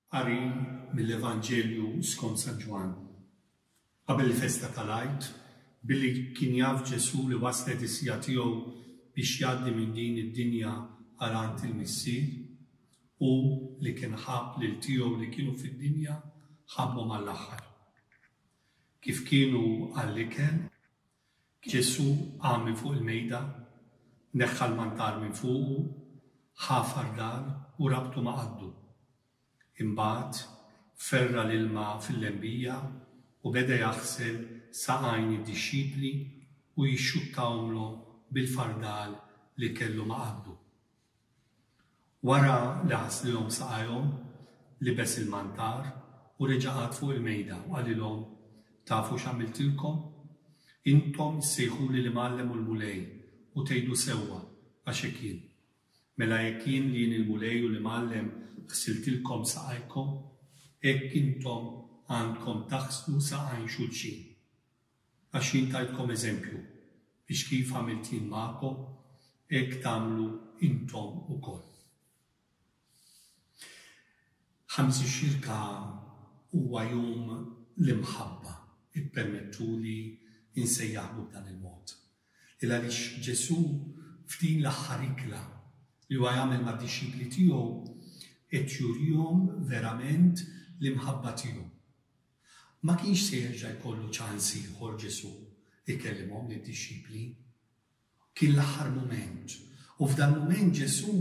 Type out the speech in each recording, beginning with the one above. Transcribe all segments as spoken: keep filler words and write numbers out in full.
Qari mill-Evanġelju skont San Ġwann. Qabel il-festa tal-Għid, billi kien jaf Ġesù li waslet is-siegħa tiegħu biex jgħaddi minn din id-dinja għal għand il-Missier, hu li kien ħabb lil tiegħu li kienu fid-dinja, ħabbhom għall-aħħar. Kif kienu għall-ikel, Ġesù qam minn fuq il-mejda, neħħa l-mantar minn fuqu, ħa fardal u rabtu ma' qaddu. Imbagħad ferra' l-ilma fil-lembija u beda jaħsel saqajn id-dixxipli u jixxuttahomlhom bil-fardal li kellu ma' qaddu. Wara li ħaslilhom saqajhom, libes il-mantar u reġa' qagħad fuq il-mejda u qalilhom, Tafu x'għamiltilkom? Intom issejħuli l-Imgħallem u l-Mulej u tgħidu sewwa, għax hekk jien. Mela jekk jien li jien il-Mulej u l-Imgħallem ħsiltilkom saqajkom, hekk intom għandkom taħslu saqajn xulxin. Għax jien tajtkom eżempju, biex kif għamilt jien magħkom, hekk tagħmlu intom ukoll. Ħamis ix-Xirka huwa jum l-imħabba, ippermettuli nsejjaħlu b'dan il-mod. Il għaliex Ġesù f'din l-aħħar ikla li huwa jagħmel mad-dixxipli tiegħu qed jurihom verament l-imħabba tiegħu. Ma kienx se jerġa' jkollu ċans ieħor Ġesù ikellimhom lid-dixxipli. Kien l-aħħar mument u f'dan mument Ġesù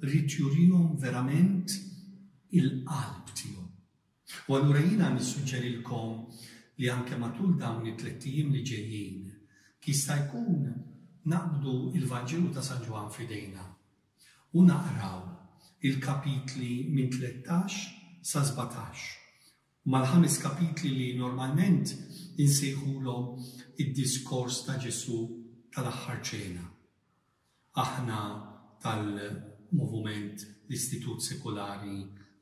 ried jurihom verament il-qalb tiegħu. U allura jiena nissuġġerilkom li anke matul dawn it-tlett ijiem li ġejjin, jista' jkun naqbdu il-Vanġelu ta' San Ġwann f'idejna u naqraw il-kapitli minn tlettax sa sbatax, mal-ħames kapitli li normalment insejħulhom id-diskors ta' Ġesù tal-aħħar ċena. Aħna tal-Movument l-Istitut Sekulari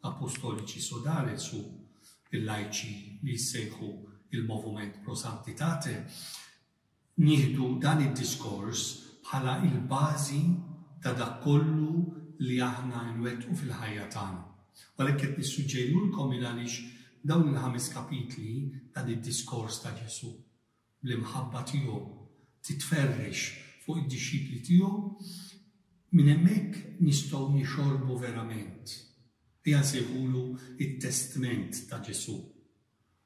Apostolici Sodales u il-lajċi li jissejħu il-Movument Pro Sanctitate, nieħdu dan id-diskors bħala il-bażi ta' dak kollu li aħna nwettqu fil-ħajja tagħna. U għalhekk qed nissuġġerilkom il għaliex dawn il-ħames kapitli dan id-diskors ta' Ġesù bl-imħabba tiegħu titferrex fuq id-dixxipli tiegħu, minn hemmhekk nistgħu nixorbu verament. Ejja nsejħulu it-testment ta' Ġesù.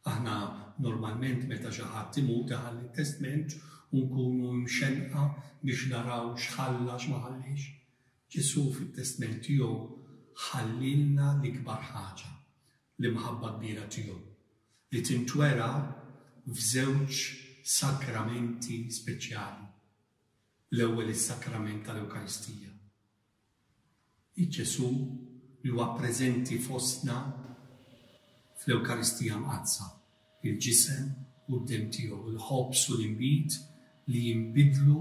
Aħna normalment meta xi ħadd imut iħalli t-testment u nkunu mxenqa biex naraw x'ħalla x'ma ħallix. Ġesù fit-testment tiegħu ħallilna l-ikbar ħaġa, l-imħabba kbira tiegħu, li tintwera f'żewġ sakramenti speċjali. L-ewwel is-sakrament tal-Ewkaristija. Ġesù li huwa preżenti fostna fl-Ewkaristija Mqaddsa, il-ġisem u d-demm tiegħu, il-ħobż u l-inbid li jinbidlu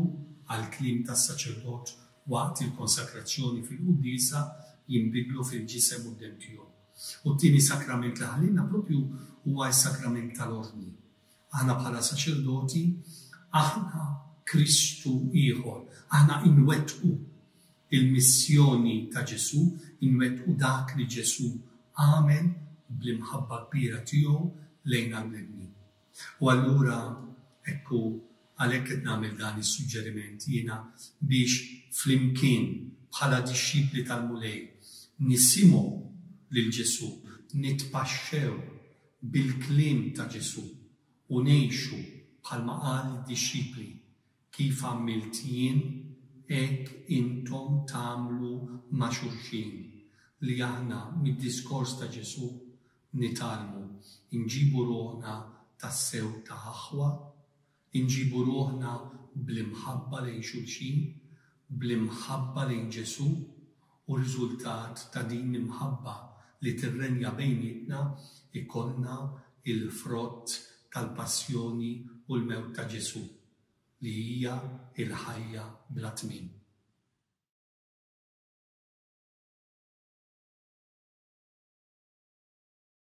għall-kliem tas-saċerdot waqt il-konsakrazzjoni fil-quddiesa jinbidlu fil-ġisem u d-demm tiegħu. U t-tieni sakrament li ħallilna propju huwa s-sakrament tal-ordni. Aħna bħala saċerdoti, aħna Kristu ieħor, aħna inwettqu il-missjoni ta' Ġesù, inwettqu dak li Ġesù għamel bl-imħabba kbira tiegħu lejn għall-bnedmin. U allura ekku għalhekk qed nagħmel dan is-suġġeriment jiena biex flimkien bħala dixxipli tal-Mulej nisimgħu lil Ġesù, nitpaxxew bil-kliem ta' Ġesù u ngħixu bħalma qal id-dixxipli, kif għamilt jien hekk intom tagħmlu ma' xulxin, li aħna mid-diskors ta' Ġesù nitgħallmu nġibu ruħna tassew ta' aħwa, nġibu ruħna bl-imħabba lejn xulxin, bl-imħabba lejn Ġesù, u riżultat ta' din l-imħabba li tirrenja bejnietna ikollna il-frott tal-passjoni u l-mewt ta' Ġesù, li hija l-ħajja bla tmiem.